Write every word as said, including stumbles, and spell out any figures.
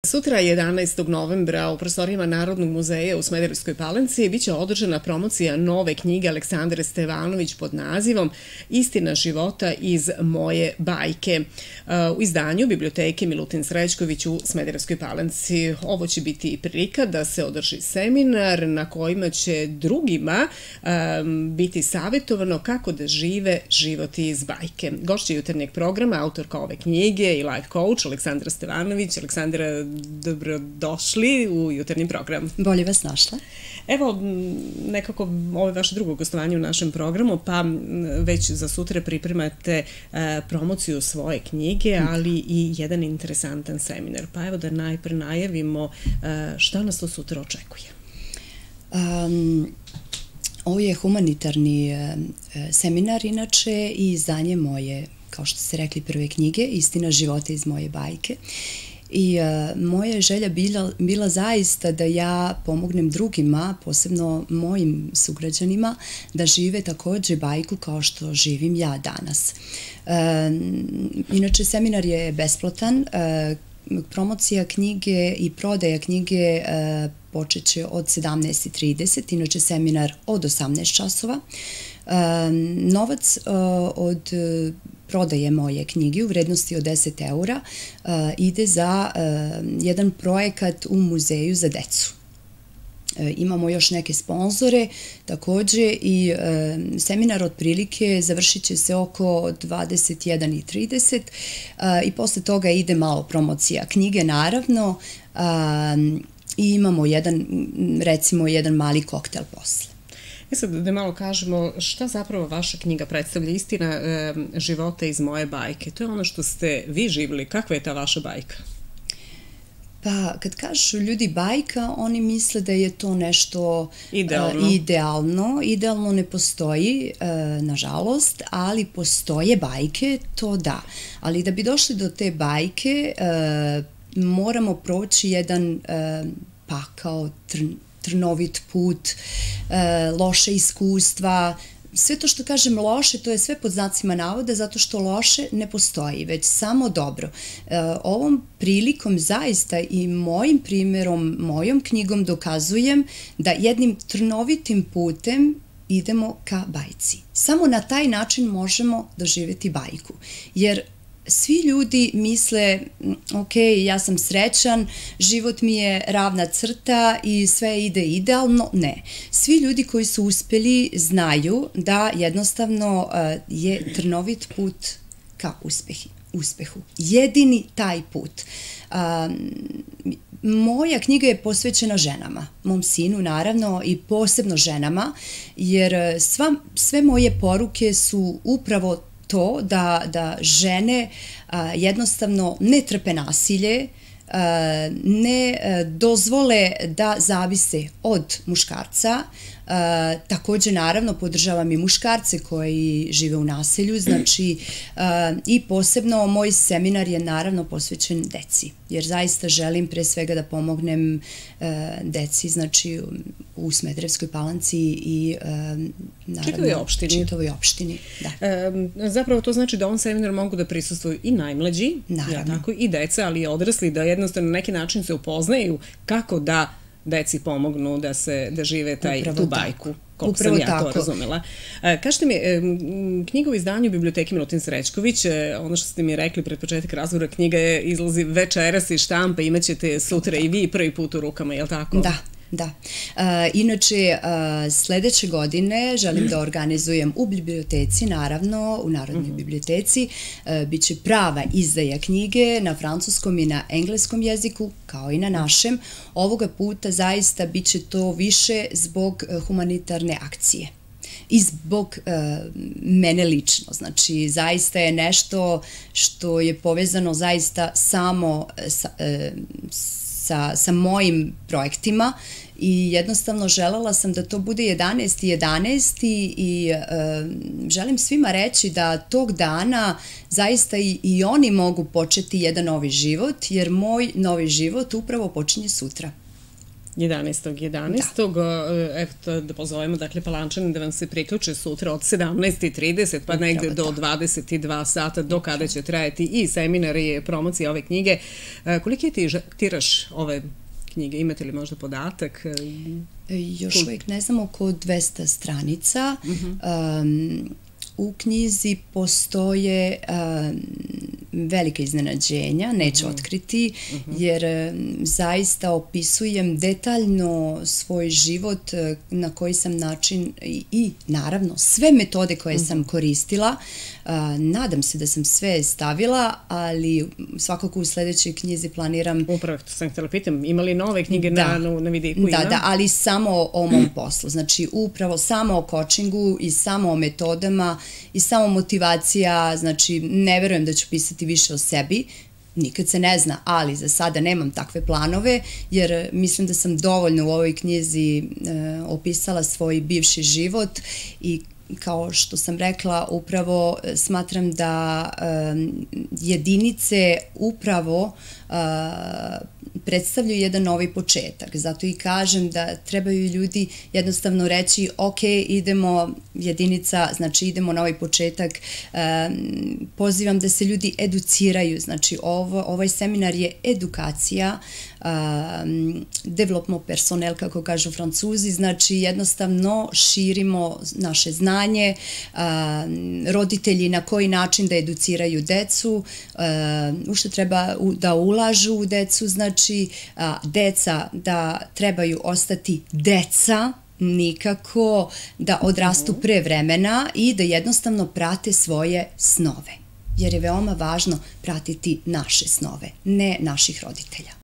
Sutra, jedanaestog novembra, u prostorijama Narodnog muzeja u Smederevskoj Palanci biće održana promocija nove knjige Aleksandre Stevanović pod nazivom Istina života iz moje bajke u izdanju Biblioteke Milutin Srećković u Smederevskoj Palanci. Ovo će biti prilika da se održi seminar na kojima će drugima biti savjetovano kako da žive život iz bajke. Gošća jutarnjeg programa, autorka ove knjige i life coach Aleksandra Stevanović. Aleksandra, dobrodošli u jutarnji program. Bolje vas našla. Evo, nekako ovo je vaše drugo gostovanje u našem programu, pa već za sutra pripremate promociju svoje knjige, ali i jedan interesantan seminar. Pa evo da najpre najavimo šta nas to sutra očekuje. Um, ovo je humanitarni seminar, inače, i izdanje moje, kao što ste rekli, prve knjige, Istina života iz moje bajke. I uh, moja je želja bila, bila zaista da ja pomognem drugima, posebno mojim sugrađanima, da žive takođe bajku kao što živim ja danas. Uh, inače, seminar je besplatan. Uh, promocija knjige i prodaja knjige uh, počet će od sedamnaest i trideset, inače seminar od osamnaest časova. Uh, novac uh, od uh, prodaje moje knjige u vrednosti od deset eura uh, ide za uh, jedan projekat u muzeju za decu. Uh, imamo još neke sponzore takođe i uh, seminar otprilike završit će se oko dvadeset jedan i trideset uh, i posle toga ide malo promocija knjige, naravno, uh, i imamo jedan, recimo, jedan mali koktel posle. E sad da malo kažemo šta zapravo vaša knjiga predstavlja, Istina e, života iz moje bajke. To je ono što ste vi živjeli. Kakva je ta vaša bajka? Pa, kad kažu ljudi bajka, oni misle da je to nešto idealno. Uh, idealno. Idealno ne postoji, uh, nažalost, ali postoje bajke, to da. Ali da bi došli do te bajke, uh, moramo proći jedan uh, pakao, trn, trnovit put, e, loše iskustva. Sve to što kažem loše, to je sve pod znacima navoda, zato što loše ne postoji, već samo dobro. E, ovom prilikom zaista i mojim primjerom, mojom knjigom dokazujem da jednim trnovitim putem idemo ka bajci. Samo na taj način možemo doživjeti bajku. Jer svi ljudi misle, ok, ja sam srećan, život mi je ravna crta i sve ide idealno. Ne. Svi ljudi koji su uspeli znaju da jednostavno je trnovit put ka uspehu. Jedini taj put. Moja knjiga je posvećena ženama, mom sinu naravno i posebno ženama, jer sva, sve moje poruke su upravo to da, da žene a, jednostavno ne trpe nasilje, a, ne a, dozvole da zavise od muškarca. A, takođe, naravno, podržavam i muškarce koji žive u nasilju, znači a, i posebno moj seminar je naravno posvećen deci, jer zaista želim pre svega da pomognem a, deci, znači u Smederevskoj Palanci i a, naravno čitavoj opštini. Čitavoj opštini, da. E, zapravo to znači da ovom seminaru mogu da prisustvuju i najmlađi, ja, tako, i deca, ali i odrasli, da jednostavno na neki način se upoznaju kako da deci pomognu da se da žive taj, tu bajku, koliko sam ja to razumela. Kažete mi, knjiga u izdanju Biblioteke Milutin Srećković, ono što ste mi rekli pred početak razgovora, knjiga je izlazi večeras iz štampe, imat ćete sutra i vi prvi put u rukama, je li tako? Da. Da. Inače, sledeće godine želim da organizujem u biblioteci, naravno, u Narodnoj biblioteci, biće prava izdaja knjige na francuskom i na engleskom jeziku, kao i na našem. Ovoga puta zaista biće to više zbog humanitarne akcije i zbog mene lično. Znači, zaista je nešto što je povezano zaista samo sa Sa, sa mojim projektima i jednostavno želela sam da to bude jedanaesti jedanaesti i e, želim svima reći da tog dana zaista i, i oni mogu početi jedan novi život, jer moj novi život upravo počinje sutra. jedanaestog jedanaestog Eto, da pozovemo, dakle, Palančane da vam se priključe sutra od sedamnaest i trideset pa negde do dvadeset i dva sata, do kada će trajati i seminar i promocija ove knjige. Koliki je tiraž ove knjige? Imate li možda podatak? Još uvijek ne znam, oko dvesta stranica. U knjizi postoje velike iznenađenja, neću otkriti, jer zaista opisujem detaljno svoj život, na koji sam način i naravno sve metode koje sam koristila. Nadam se da sam sve stavila, ali svakako u sledećoj knjizi planiram... Upravo, to sam htjela pitam, ima li nove knjige na vidiku? Da, da, ali samo o mom poslu. Znači, upravo samo o coachingu i samo o metodama i samo motivacija. Znači, ne verujem da ću pisati više o sebi, nikad se ne zna, ali za sada nemam takve planove, jer mislim da sam dovoljno u ovoj knjizi opisala svoj bivši život i kao što sam rekla, upravo smatram da jedinice upravo predstavljaju jedan novi početak. Zato i kažem da trebaju ljudi jednostavno reći ok, idemo jedinica, znači idemo na ovaj početak. Pozivam da se ljudi educiraju. Znači ovaj seminar je edukacija, development personnel, kako kažu Francuzi, znači jednostavno širimo naše znanje, roditelji na koji način da educiraju decu, u što treba da ulažu u decu, znači deca da trebaju ostati deca, nikako da odrastu pre vremena i da jednostavno prate svoje snove. Jer je veoma važno pratiti naše snove, ne naših roditelja.